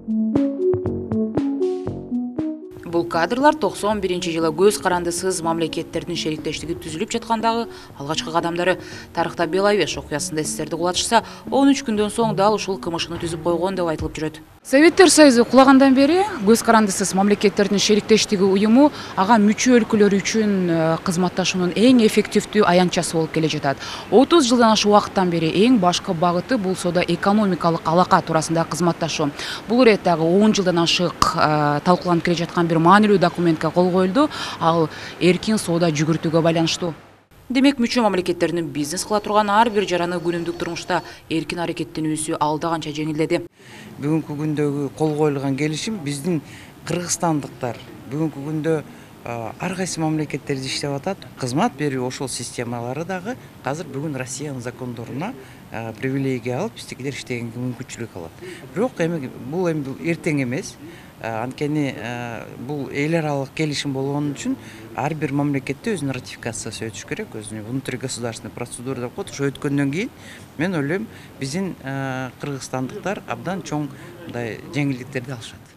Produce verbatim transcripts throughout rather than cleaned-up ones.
Бул кадрлар токсон биринчи жылы көз карандысыз мамлекеттердин шериктештиги түзүлүп жаткандагы алгачкы кадамдары. Тарыхта Беловеж окуясында эстерди кулатышса, он үч күндөн соң дал ушул КМШны түзүп койгон деп айтылып жүрөт. Советтер Союзу кулагандан бери көз карандысыз мамлекеттердин шериктештиги уюму ага мүчө өлкөлөр үчүн кызматташуунун эң эффективдүү аянтчасы болуп келе жатат. отуз жылдан ашык убакыттан бери эң башкы багыты бул соода-экономикалык алака туурасында кызматташуу. Бул ирет дагы он жылдан ашык талкууланып келе жаткан бир маанилүү документке кол коюлду. Ал эркин соода жүгүртүүгө байланыштуу. Демек, мүчө мамлекеттердин бизнес кыла турган ар бир жараны күнүмдүк турмушта эркин аракеттенүүсү алда канча жеңилдеди. Бүгүнкү күндөгү кол коюлган келишим биздин кыргызстандыктар бүгүнкү күндө ар кайсы мамлекеттерде иштеп атат. Кызмат берүү ошол системалары дагы азыр бүгүн Россиянын закондоруна привилегия алып, биздикилер иштегенге мүмкүнчүлүк алат. Бирок эми бул эми эртең эмес. Анткени бул эл аралык келишим болгон үчүн ар бир мамлекетте өзүнүн ратификациясы өтүш керек, өзүнүн внутригосударственный процедура деп коет. Ошо өткөндөн кийин мен ойлойм, биздин кыргызстандыктар абдан чоң мындай жеңилдиктерди алышат.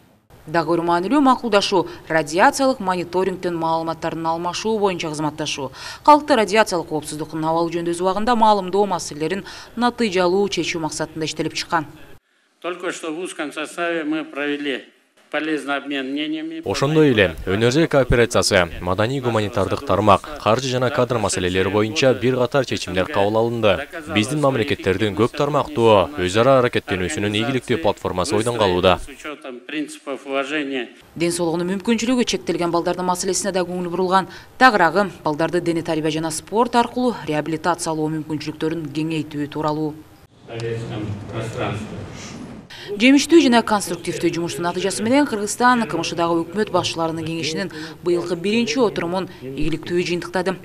Дагы бир маанилүү макулдашуу радиациялык мониторингден маалыматтардын алмашуу боюнча кызматташуу. Калкты радиациялык коопсуздуктун абалы жөнүндө убагында маалымдоо маселелерин натыйжалуу чечүү максатында иштелип чыккан. Только что в узком составе мы провели полезный обмен мнениями. Ошондой эле өнөр кооперациясы, маданий гуманитардык тармак, каржы жана кадр маселелери боюнча бир катар чечимдер кабыл алынды. Биздин мамлекеттердин көп тармактуу өз ара аракеттенүүсүнүн ийгиликтүү платформасы ойдон калууда. Ден соолугунун мүмкүнчүлүгү чектелген балдардын маселесине да көңүл бурулган. Тагыраагы балдарды дене тарбия жана спорт аркылуу реабилитациялоо мүмкүнчүлүктөрүн кеңейтүү тууралуу. Жемиштүү жана конструктивдүү жумуштун натыйжасы менен Кыргызстан КМШдагы өкмөт башчыларынын кеңешинин быйылкы биринчи отурумун ийгиликтүү жыйынтыктады.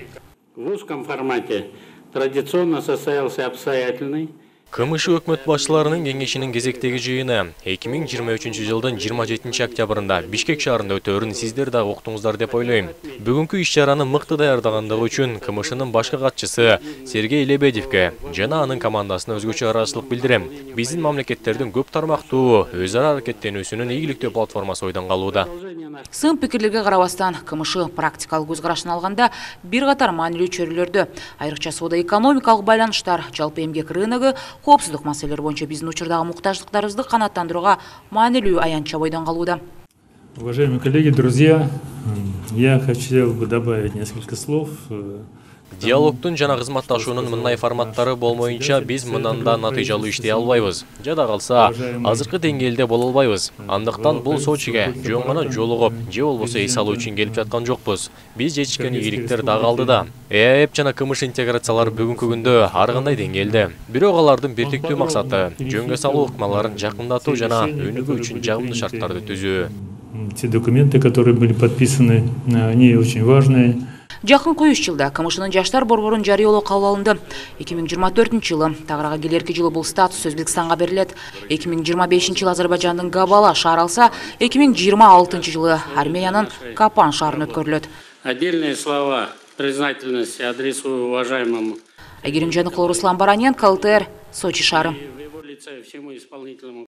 В узком формате традиционно состоялся обстоятельный КМШ өкмөт башчыларынын кеңешинин кезектеги жыйыны эки миң жыйырма үчүнчү жылдын жыйырма жетинчи октябрында Бишкек шаарында өтөөрүн сиздер дагы уктуңуздар деп ойлойм. Бүгүнкү иш-чараны мыкты даярдагандыгы үчүн КМШнын башкы катчысы Сергей Лебедевке жана анын командасына өзгөчө ыраазычылык билдирем. Биздин мамлекеттердин көп тармактуу өз ара аракеттенүүсүнүн ийгиликтүү платформасы ойдон калууда. Сын пикирлерге карабастан КМШ практикалык көз карашын алганда бир катар маанилүү чөйрөлөрдө, айрыкча соода-экономикалык байланыштар, жалпы эмгек рыногу, коопсуздук маселелери боюнча биздин учурдагы муктаждыктарыбызды канааттандырууга маанилүү аянтча бойдон калууда. Уважаемые коллеги, друзья, я хотел бы добавить несколько слов. Диалогтун жана кызматташуунун мындай форматтары болмоюнча биз мындан да натыйжалуу иштей албайбыз. Жада калса, азыркы деңгээлде боло албайбыз. Андыктан бул Сочиге жөн гана жолугуп, же болбосо эс алуу үчүн келип жаткан жокпуз. Биз жетишкен ийгиликтер дагы алдыда. ЭАЭП жана КМШ интеграциялары бүгүнкү күндө ар кандай деңгээлде. Бирок алардын бирдиктүү максаты жөнгө салуу ыкмаларын жакындатуу жана өнүгүү үчүн жагымдуу шарттарды түзүү. Те документы, которые были подписаны, они очень важные. Жакынкы үч жылда КМШнын жаштар борборун жарыялоо кабыл алынды. эки миң жыйырма төртүнчү жылы тагырага келерки жылы бул статус Өзбекстанга берилет. эки миң жыйырма бешинчи жылы Азербайжандын Габала шаары алса, эки миң жыйырма алтынчы жылы Армениянын Капан шаарын өткөрүлөт. Отдельные слова признательности адресую уважаемому Айгерим Жаныкулов, Руслан Бараненко, ЛТР, Сочи шаары.